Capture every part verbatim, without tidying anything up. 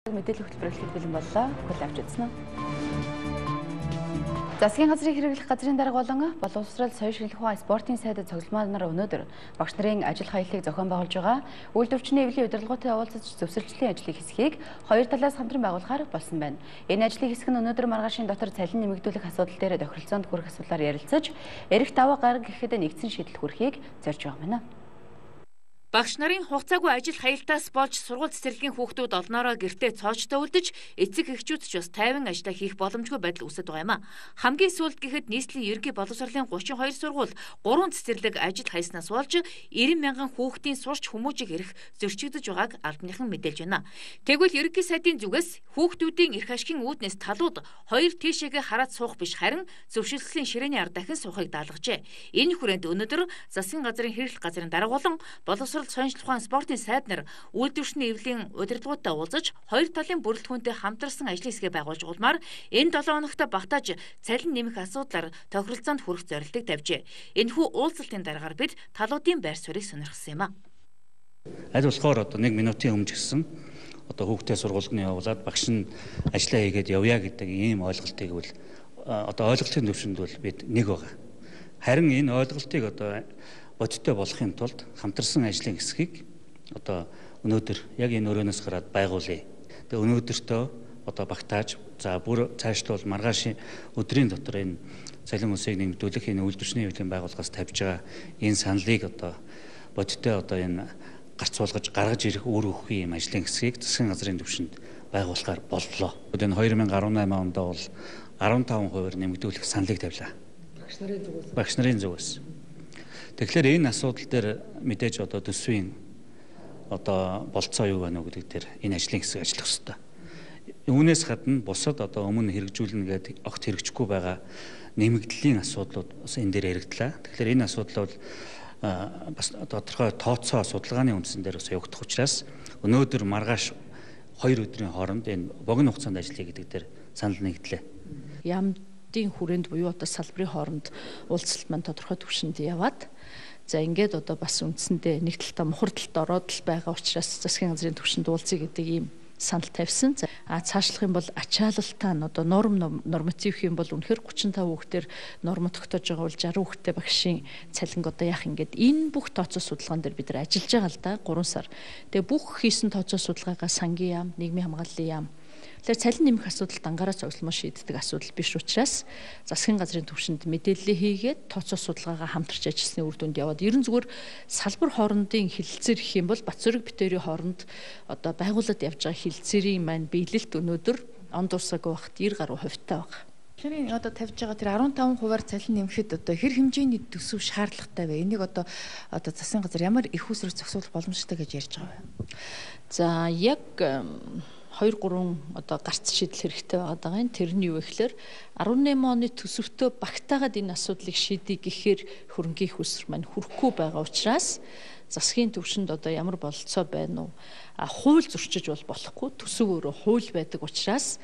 Мэдээлэл хөтөлбөрөөр бэлэн боллоо. Хүл авч үзсэн үү? Засгийн газрын хэрэглэх газрын дарга болон боловсрол соёл шинжилгээ ухаан спортын сайд цуглуулмаар нар өнөөдөр багш нарын ажил хаяллыг зохион байгуулж байгаа үйлдвэрчний эвлийн удирдлагуудтай уулзаж зөвсөлтлийн ажлыг хэсгийг хоёр талаас хамтран байгуулахаар болсон байна. Энэ ажлын хэсэг нь өнөөдөр маргаашийн дотор цалин нэмэгдүүлэх асуудал дээр тохиролцоонд хүрэх асуудлаар ярилцаж, эрэх даваа гарга гэхэд нэгдсэн шийдэл хүрэхийг зорж байгаа юм. Багш нарын хугацаагүй ажил хаялтаас болж сургууль цэцэрлэгийн хүүхдүүд олноороо гэртээ цоочтой үлдэж, эцэг эхчүүд ч бас тайван ажиллаа хийх боломжгүй байдал үүсэж байгаа юм а. Хамгийн сүүлд гэхэд нийслэлийн ерөнхий боловсролын гучин хоёр сургууль гурван цэцэрлэг ажил хаяснаас болж найман мянган хүүхдийн сурч хүмүүжих эрх зөрчигдөж байгааг албаныхан мэдээлж байна. Тэгвэл ерөнхий сайдын зүгээс хүүхдүүдийн эрх ашигын үүднээс талууд хоёр тийшээгээ хараад суух биш харин зөвшөөрлөлийн ширээний ар дахин суухыг даалгажээ. Энэ хүрээнд өнөөдөр засгийн газрын хэрэглэх газрын дарга болон боловсрол соёл шинжилгээ ухаан спортын сайд нар үйлдвэрчний эвлийн удирдлагуудтай уулзаж хоёр талын бүрэлдэхүүнтэй хамтарсан ажлын хэсгээ байгуулж улмаар энэ долоо хоногт багтааж цалин нэмэх асуудлаар тохиролцоонд хүрэх зорилтыг тавьжээ. Энэхүү уулзалтын дараагаар бид талуудын байр суурийг сонирхсан юм а. Аль болохоор одоо нэг минутын өмнө гисэн одоо хүүхдээ сургуульд нь явуулаад багш нь ажиллаа хийгээд явъя гэдэг ийм ойлголтыг бол одоо ойлголтын төвшөнд бол бид нэг байгаа. Харин энэ ойлголтыг одоо бодиттой болохын тулд хамтарсан ажлын хэсгийг одоо өнөөдөр яг энэ өрөөнөөс гараад байгуулъя. Тэгээ өнөөдөртөө одоо багтааж за бүр цаашлбал маргаашийн өдрийн дотор энэ цалин үсгийг нэмэгдүүлэх энэ үйлдвэрчний эвлийн байгууллагаас тавьж байгаа энэ саналыг одоо бодиттой одоо энэ гарц суулгаж гаргаж ирэх үр өгөхийн юм ажлын хэсгийг засгийн газрын түвшинд байгуулахаар боллоо. Энэ хоёр мянган арван наймын онд бол арван таван хувиар нэмэгдүүлэх саналыг тавилаа. Багш нарын зүгээс. Багш нарын зүгээс. Тэгэхээр энэ асуудал дээр мэдээж одоо төсвийн одоо болцоо юу байна уу гэдэг дээр энэ ажлын хэсэг ажиллах ёстой. Үүнээс гадна бусад одоо өмнө хэрэгжүүлнэ гэдэг огт хэрэгжихгүй байгаа нэмэгдлийн асуудлууд бас энэ дээр яригдлаа. Тэгэхээр энэ асуудал бол бас тодорхой тооцоо судалгааны үндсэн дээр бас явагдах учраас өнөөдөр маргааш хоёр өдрийн хооронд энэ богино хугацаанд ажиллая гэдэг дээр санал нэгдлээ. Ямдын хүрээнд буюу одоо салбарын хооронд уулзалт маань тодорхой түвшинд яваад за ингээд одоо бас үндсэндээ нэг талдаа мухар талд ороод л байгаа учраас засгийн газрын түвшинд уулзъя гэдэг ийм санал тавьсан. За а цаашлах юм бол ачаалалтаа нь одоо норм норматив юм бол үнэхээр гучин тав хүүхдээр норм тогтоож байгаа бол жарган хүүхдтэй багшийн цалинг одоо яах ингээд энэ бүх тооцоо судалгаан дээр бид нар ажиллаж байгаа л да гурван сар. Тэгээ бүх хийсэн тооцоо судалгаагаа сангийн яам, нийгмийн хамгааллын яам Тэгэхээр цалин нэмэх асуудал дангаараа цогцлмоо шийддэг асуудал биш учраас засгийн газрын түвшинд мэдээлэл хийгээд тооцоо судалгаагаа хамтарч ажилласны үр дүнд яваад ерөн зүгээр салбар хоорондын хилцээр гэх юм бол Батзүрэг битүүрийн хооронд одоо байгууллагад явж байгаа хилцээрийн маань биелэлт өнөөдөр он дурсаагүй багт девять гаруй хувьтай байна. Тэгэхээр одоо тавьж байгаа тэр арван таван хувиар цалин нэмэхэд одоо хэр хэмжээний төсөв шаардлагатай вэ? Энийг одоо одоо засгийн газар ямар их усрыг зохицуулах боломжтой гэж ярьж байгаа вэ? За яг хоёр гурван одоо гарц шийдэл хэрэгтэй байгаа юм. Тэр нь юу вэ гэхээр арван найман оны төсөвтөө багтаагаад энэ асуудлыг шийдэх гэхээр хөрөнгөний хүсэр маань хүрэхгүй байгаа учраас засгийн түвшинд одоо ямар бололцоо байна уу? А хууль зөрчиж бол болохгүй. Төсөв өөрөө хууль байдаг учраас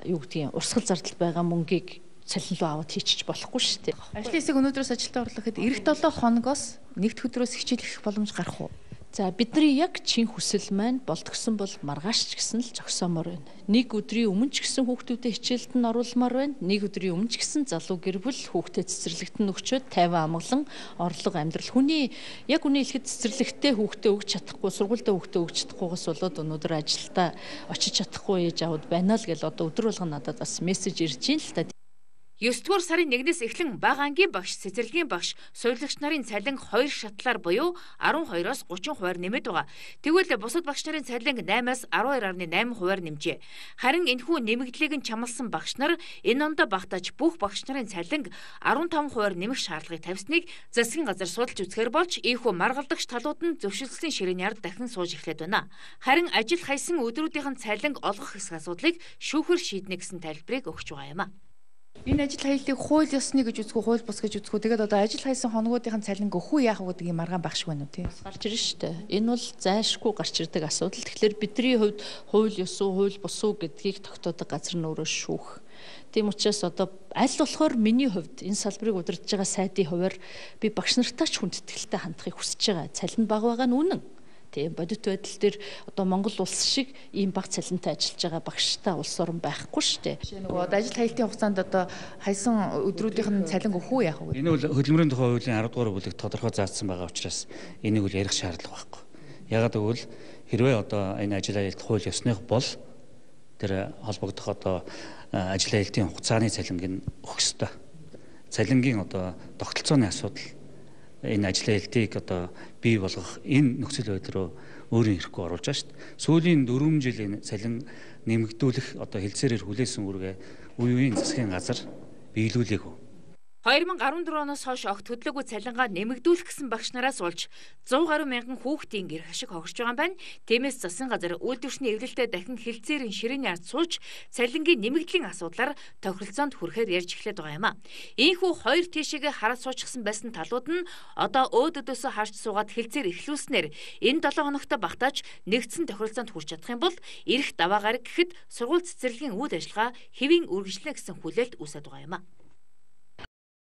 юу гэдгийг урсгал зардал байгаа мөнгийг цалин руу аваад хийчих болохгүй шүү дээ. Ажлын хэсэг өнөөдрөөс ажилдаа орлоход эх долоо хоногоос нэгд өдрөөс хичээлэх боломж гарах уу? За бидний яг чин хүсэл маань болтгсон бол маргааш ч гэсэн л зогсоомоор байна. Нэг өдрийн өмнө ч гэсэн хүүхдүүдэд хичээлд нь оруулмаар байна. Нэг өдрийн өмнө ч гэсэн залуу гэр бүл хүүхдэд цэцэрлэгтэн өгчөөд тайван амгалан орлого амьдрал. Хүний яг үний хэлэхэд цэцэрлэгтээ хүүхдээ өгч чадахгүй, сургуультай хүүхдээ өгч чадахгүйгээс болоод өнөөдөр ажилдаа очиж чадахгүй ээж аауд байна л гэл одоо өдөр болгон надад бас мессеж ирж ийн л та. Есдүгээр сарын нэгнээс эхлэн бага ангийн багш, цэцэрлэгийн багш, суйрлагч нарын цалин хоёр шатлаар буюу арван хоёроос гучин хувиар нэмээд байгаа. Тэгвэл бусад багш нарын цалин наймаас арван хоёр гаруй найман хувиар нэмжээ. Харин энэхүү нэмэгдлийг нь чамласан багш нар энэ онд багтааж бүх багш нарын цалин арван таван хувиар нэмэх шаардлагыг тавьсныг засгийн газар судалж үзэхээр болж ийхүү маргалдагч талууд нь зөвшөөрлөлийн ширээний ард дахин сууж эхлэв байна. Харин ажил хайсан өдрүүдийн цалин олгох хэсэг асуудлыг шүүхэр шийднэ гэсэн тайлбарыг өгч байгаа юм а. Энэ ажил хаяллыг хууль ёсны гэж үзэх үү, хууль бус гэж үзэх үү? Тэгээд одоо ажил хайсан хоногуудын цалин өгөх үү яах вэ гэдэг юм маргаан багш байна уу тий? Гарч ирнэ шүү дээ. Энэ бол зайлшгүй гарч ирдэг асуудал. Тэгэхээр бидний хувьд хууль ёс уу, хууль бус уу гэдгийг тогтоодог газар нь өөрөө шүүх. Тийм учраас одоо аль болохоор миний хувьд энэ салбарыг удирдах байгаа сайдын хувьар би багш нартаа ч хүндэтгэлтэй хандахыг хүсэж байгаа. Цалин бага байгаа нь үнэн. Тийм бодит байдал дээр одоо Монгол улс шиг ийм бага цалинтай ажиллаж байгаа багштай улс орн байхгүй шүү дээ. Жишээ нь нөгөө ажил хаялтын хугацаанд одоо хайсан өдрүүдийнх нь цалин өгөх үү яах вэ? Энэ бол хөдөлмөрийн тухай хуулийн арав дугаар бүлэгт тодорхой заасан байгаа учраас энийг үл ярих шаардлага байхгүй. Ягаад гэвэл хэрвээ одоо энэ ажил хаялт хууль ёсных бол тэр холбогдох одоо ажил хаялтын хугацааны цалинг нь өгөх ёстой. Цалингийн одоо тогтолцооны асуудал энэ ажил хаялтыг одоо бий болгох энэ нөхцөл байдал руу өөрийн ирэхгүй оруулж байгаа шүү дээ. Сүүлийн дөрвөн жилийн цалин нэмэгдүүлэх одоо хэлцээрээр хүлээсэн үргээ үе үеийн засгийн газар биелүүлээгүй. хоёр мянга арван дөрөв оноос хойш огт хөдлөөгүй цалингаа нэмэгдүүлэх гэсэн багш нараас болж зуун гаруй мянган хүүхдийн гэр хашиг хогсож байгаа юм байна. Тиймээс засгийн газар үйлдвэрчний эвлэлтэд дахин хэлцээрийн ширээний ард сууж цалингийн нэмэгдлийн асуудлаар тохиролцоонд хүрэхээр ярьж эхлэв байгаа юм а. Ийхүү хоёр тийшээгээ хараад суучихсан байсан талууд нь одоо өөд өдөөсөө харж суугаад хэлцээр эхлүүлснээр энэ долоо хоногт багтааж нэгдсэн тохиролцоонд хүрч чадах юм бол ирэх даваа гараг гэхэд сургууль цэцэрлэгийн үйл ажиллагаа хэвийн үргэлжлэнэ гэсэн хүлээлт үүсэж байгаа юм а.